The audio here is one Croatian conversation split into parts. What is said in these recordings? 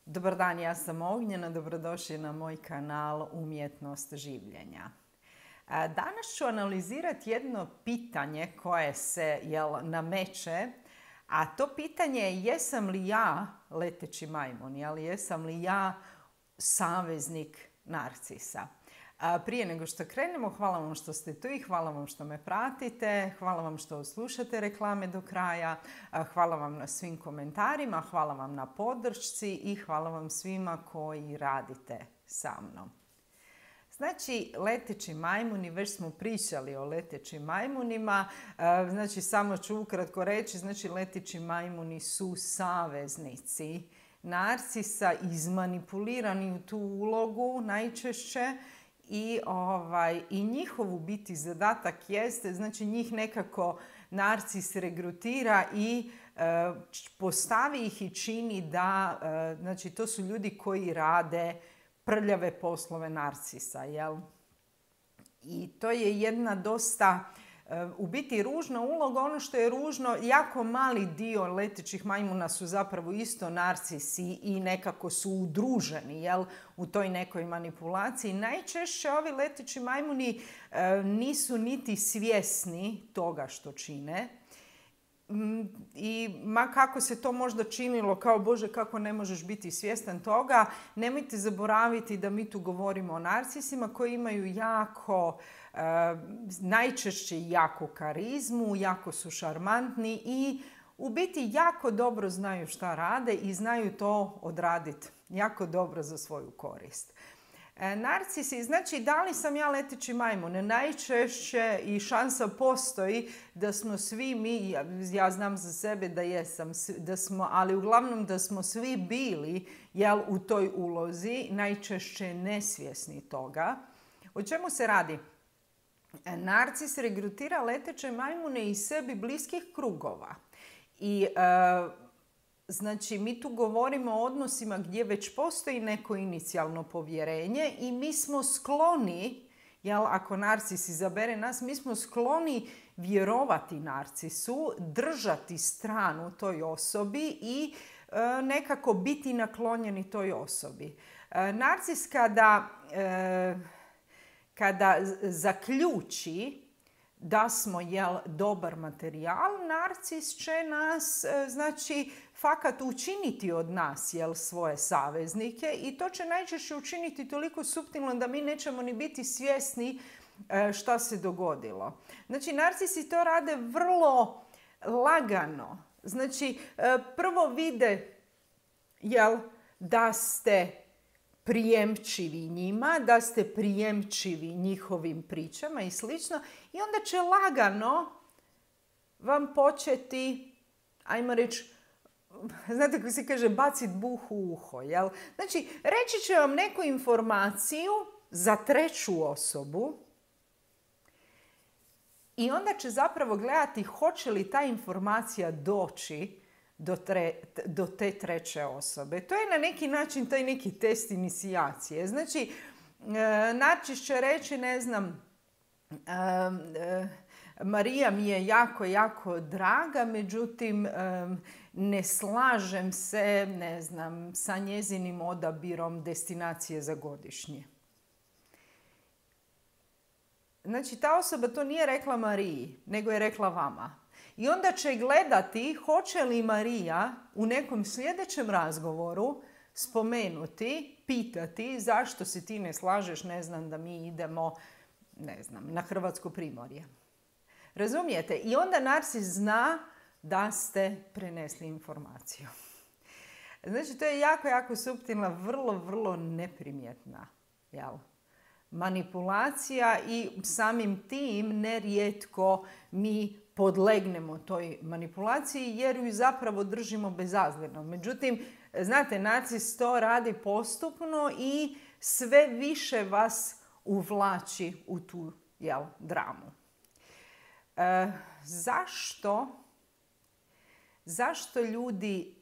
Dobar dan, ja sam Ognjena, dobrodošli na moj kanal Umjetnost življenja. Danas ću analizirati jedno pitanje koje se nameće, a to pitanje je jesam li ja leteći majmun, jesam li ja saveznik narcisa. Prije nego što krenemo, hvala vam što ste tu i hvala vam što me pratite, hvala vam što slušate reklame do kraja, hvala vam na svim komentarima, hvala vam na podršci i hvala vam svima koji radite sa mnom. Znači, leteći majmuni, već smo pričali o letećim majmunima, znači samo ću ukratko reći, znači leteći majmuni su saveznici narcisa, izmanipulirani u tu ulogu najčešće. I njihov u biti zadatak jeste, znači njih nekako narcis regrutira i postavi ih i čini da, znači to su ljudi koji rade prljave poslove narcisa, jel? I to je jedna dosta, u biti ružna uloga. Ono što je ružno, jako mali dio letećih majmuna su zapravo isto narcisi i nekako su udruženi, jel, u toj nekoj manipulaciji. Najčešće ovi leteći majmuni nisu niti svjesni toga što čine. I ma kako se to možda činilo kao Bože kako ne možeš biti svjestan toga, nemojte zaboraviti da mi tu govorimo o narcisima koji imaju najčešće jaku karizmu, jako su šarmantni i u biti jako dobro znaju šta rade i znaju to odraditi jako dobro za svoju korist. Narcisi, znači da li sam ja leteći majmun? Najčešće i šansa postoji da smo svi mi, ja znam za sebe da jesam, ali uglavnom da smo svi bili u toj ulozi, najčešće nesvjesni toga. O čemu se radi? Narcis regrutira leteće majmune iz sebi bliskih krugova. I znači, mi tu govorimo o odnosima gdje već postoji neko inicijalno povjerenje i mi smo skloni, ako narcis izabere nas, mi smo skloni vjerovati narcisu, držati stranu toj osobi i nekako biti naklonjeni toj osobi. Narcis kada zaključi da smo dobar materijal, narcis će nas, znači, fakat učiniti od nas svoje saveznike i to će najčešće učiniti toliko suptilno da mi nećemo ni biti svjesni šta se dogodilo. Znači, narcisi to rade vrlo lagano. Znači, prvo vide da ste prijemčivi njima, da ste prijemčivi njihovim pričama i slično i onda će lagano vam početi, ajmo reći, znate kako se kaže, bacit buh u uho, jel? Znači, reći će vam neku informaciju za treću osobu i onda će zapravo gledati hoće li ta informacija doći do te treće osobe. To je na neki način taj neki test inicijacije. Znači, narcis će reći, ne znam, Marija mi je jako, jako draga, međutim, ne slažem se, ne znam, sa njezinim odabirom destinacije za godišnje. Znači, ta osoba to nije rekla Mariji, nego je rekla vama. I onda će gledati hoće li Marija u nekom sljedećem razgovoru spomenuti, pitati zašto se ti ne slažeš, ne znam, da mi idemo, ne znam, na Hrvatsko primorje. Razumijete? I onda narcis zna da ste prenesli informaciju. Znači, to je jako, jako suptilna, vrlo, vrlo neprimjetna, manipulacija i samim tim nerijetko mi podlegnemo toj manipulaciji jer ju zapravo držimo bezazleno. Međutim, znate, narcis to radi postupno i sve više vas uvlači u tu dramu. Zašto ljudi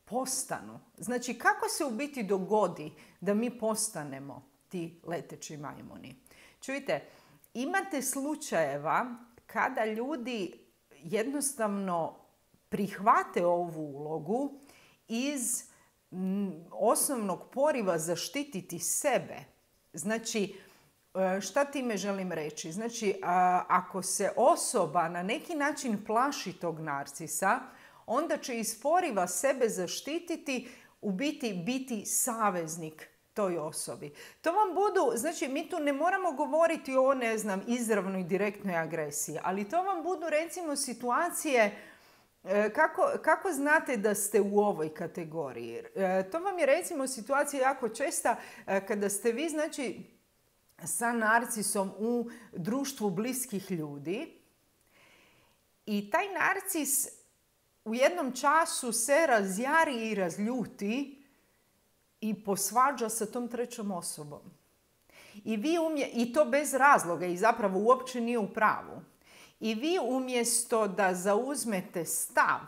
postanu? Znači, kako se u biti dogodi da mi postanemo ti leteći majmuni? Čujte, imate slučajeva kada ljudi jednostavno prihvate ovu ulogu iz osnovnog poriva zaštititi sebe. Znači, šta time želim reći? Znači, ako se osoba na neki način plaši tog narcisa, onda će iz poriva sebe zaštititi, u biti saveznik toj osobi. To vam budu, znači mi tu ne moramo govoriti o, ne znam, izravnoj direktnoj agresiji, ali to vam budu recimo situacije kako znate da ste u ovoj kategoriji. To vam je recimo situacija jako česta kada ste vi, znači, sa narcisom u društvu bliskih ljudi i taj narcis u jednom času se razjari i razljuti i posvađa sa tom trećom osobom. I to bez razloga i zapravo uopće nije u pravu. I vi umjesto da zauzmete stav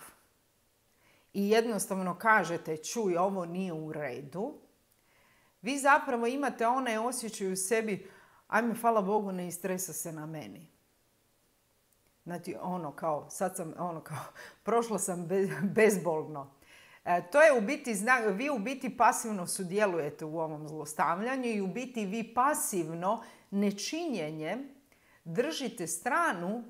i jednostavno kažete čuj, ovo nije u redu, vi zapravo imate onaj osjećaj u sebi ajme, hvala Bogu, ne istresa se na meni. Znači, prošla sam bezbolno. To je u biti znak, vi u biti pasivno sudjelujete u ovom zlostavljanju i u biti vi pasivno nečinjenjem držite stranu,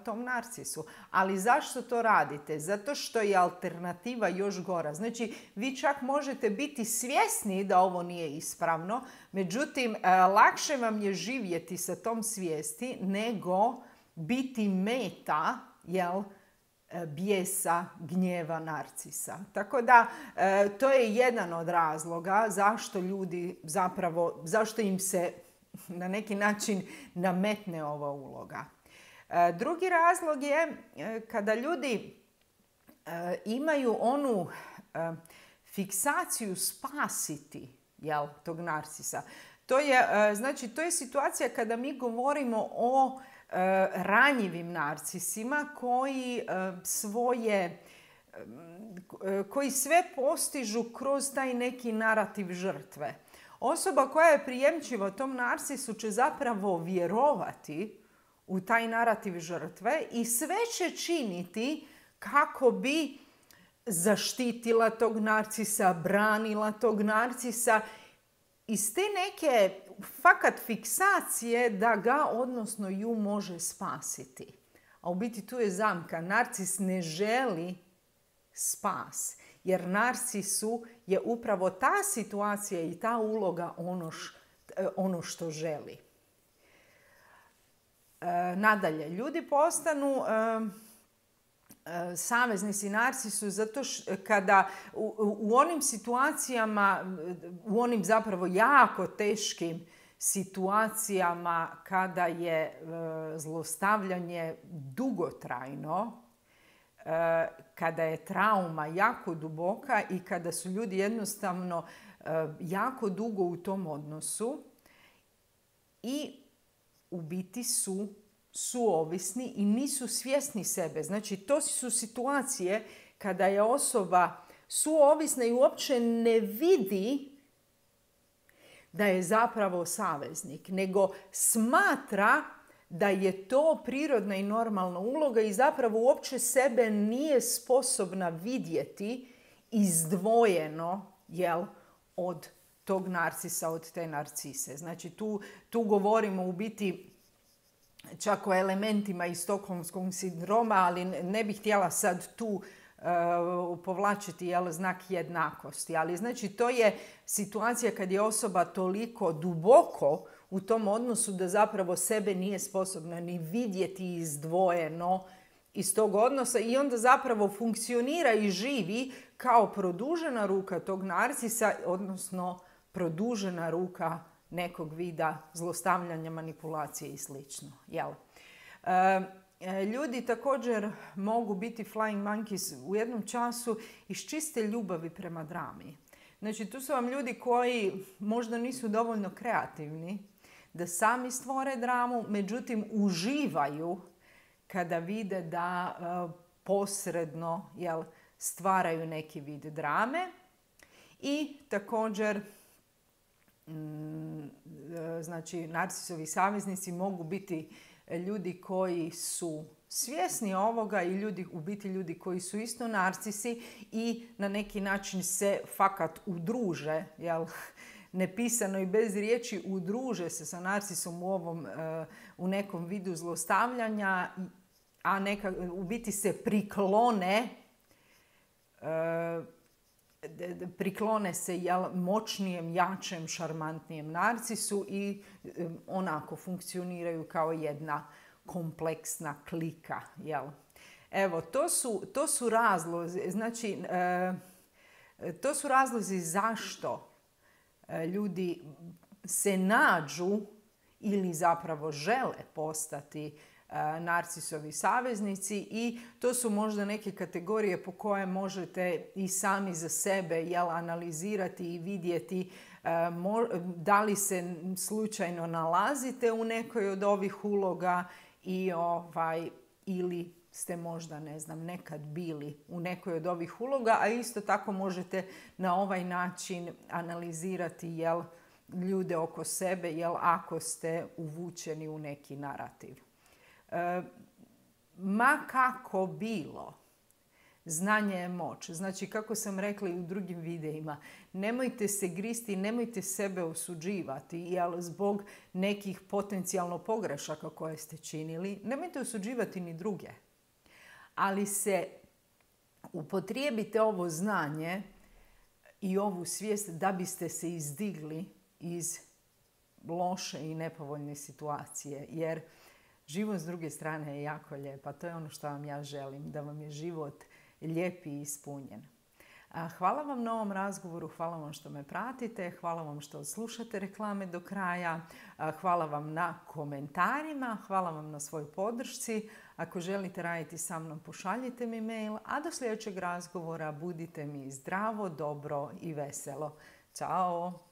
tom narcisu. Ali zašto to radite? Zato što je alternativa još gora. Znači, vi čak možete biti svjesni da ovo nije ispravno, međutim, lakše vam je živjeti sa tom svijesti nego biti meta, bijesa, gnjeva narcisa. Tako da, to je jedan od razloga zašto ljudi zašto im se na neki način nametne ova uloga. Drugi razlog je kada ljudi imaju onu fiksaciju spasiti tog narcisa. To je situacija kada mi govorimo o ranjivim narcisima koji sve postižu kroz taj neki narativ žrtve. Osoba koja je prijemčiva tom narcisu će zapravo vjerovati u taj narativ žrtve i sve će činiti kako bi zaštitila tog narcisa, branila tog narcisa iz te neke fakat fiksacije da ga, odnosno ju, može spasiti. A u biti tu je zamka. Narcis ne želi spas. Jer narcisu je upravo ta situacija i ta uloga ono što želi. Nadalje, ljudi postanu saveznici narcisu zato kada u onim situacijama, u onim zapravo jako teškim situacijama kada je zlostavljanje dugotrajno, kada je trauma jako duboka i kada su ljudi jednostavno jako dugo u tom odnosu i u biti su suovisni i nisu svjesni sebe. Znači, to su situacije kada je osoba suovisna i uopće ne vidi da je zapravo saveznik, nego smatra da je to prirodna i normalna uloga i zapravo uopće sebe nije sposobna vidjeti izdvojeno od tog narcisa, od te narcise. Znači, tu govorimo u biti čak o elementima iz stokholmskog sindroma, ali ne bih htjela sad tu povlačiti znak jednakosti. Ali znači, to je situacija kad je osoba toliko duboko u tom odnosu da zapravo sebe nije sposobna ni vidjeti izdvojeno iz tog odnosa i onda zapravo funkcionira i živi kao produžena ruka tog narcisa, odnosno produžena ruka nekog vida zlostavljanja, manipulacije i slično. Ljudi također mogu biti flying monkeys u jednom času iz čiste ljubavi prema drami. Znači, tu su vam ljudi koji možda nisu dovoljno kreativni da sami stvore dramu, međutim uživaju kada vide da posredno stvaraju neki vid drame. I također, znači, narcisovi saveznici mogu biti ljudi koji su svjesni ovoga i ljudi, u biti ljudi koji su isto narcisi i na neki način se fakat udruže, jel? Nepisano i bez riječi udruže se sa narcisom u nekom vidu zlostavljanja, a u biti se priklone se moćnijem, jačem, šarmantnijem narcisu i onako funkcioniraju kao jedna kompleksna klika. Jel? Evo, to su razlozi. Znači, to su razlozi zašto ljudi se nađu ili zapravo žele postati narcisovi saveznici i to su možda neke kategorije po koje možete i sami za sebe analizirati i vidjeti da li se slučajno nalazite u nekoj od ovih uloga ili ste možda, ne znam, nekad bili u nekoj od ovih uloga, a isto tako možete na ovaj način analizirati ljude oko sebe, ako ste uvučeni u neki narativ. Ma kako bilo, znanje je moć. Znači, kako sam rekla i u drugim videima, nemojte se gristi, nemojte sebe osuđivati, zbog nekih potencijalno pogrešaka koje ste činili. Nemojte osuđivati ni druge. Ali se upotrijebite ovo znanje i ovu svijest da biste se izdigli iz loše i nepovoljne situacije. Jer život s druge strane je jako lijep, a to je ono što vam ja želim, da vam je život lijep i ispunjen. Hvala vam na ovom razgovoru, hvala vam što me pratite, hvala vam što slušate reklame do kraja, hvala vam na komentarima, hvala vam na svojoj podršci. Ako želite raditi sa mnom, pošaljite mi mail, a do sljedećeg razgovora budite mi zdravo, dobro i veselo. Ćao!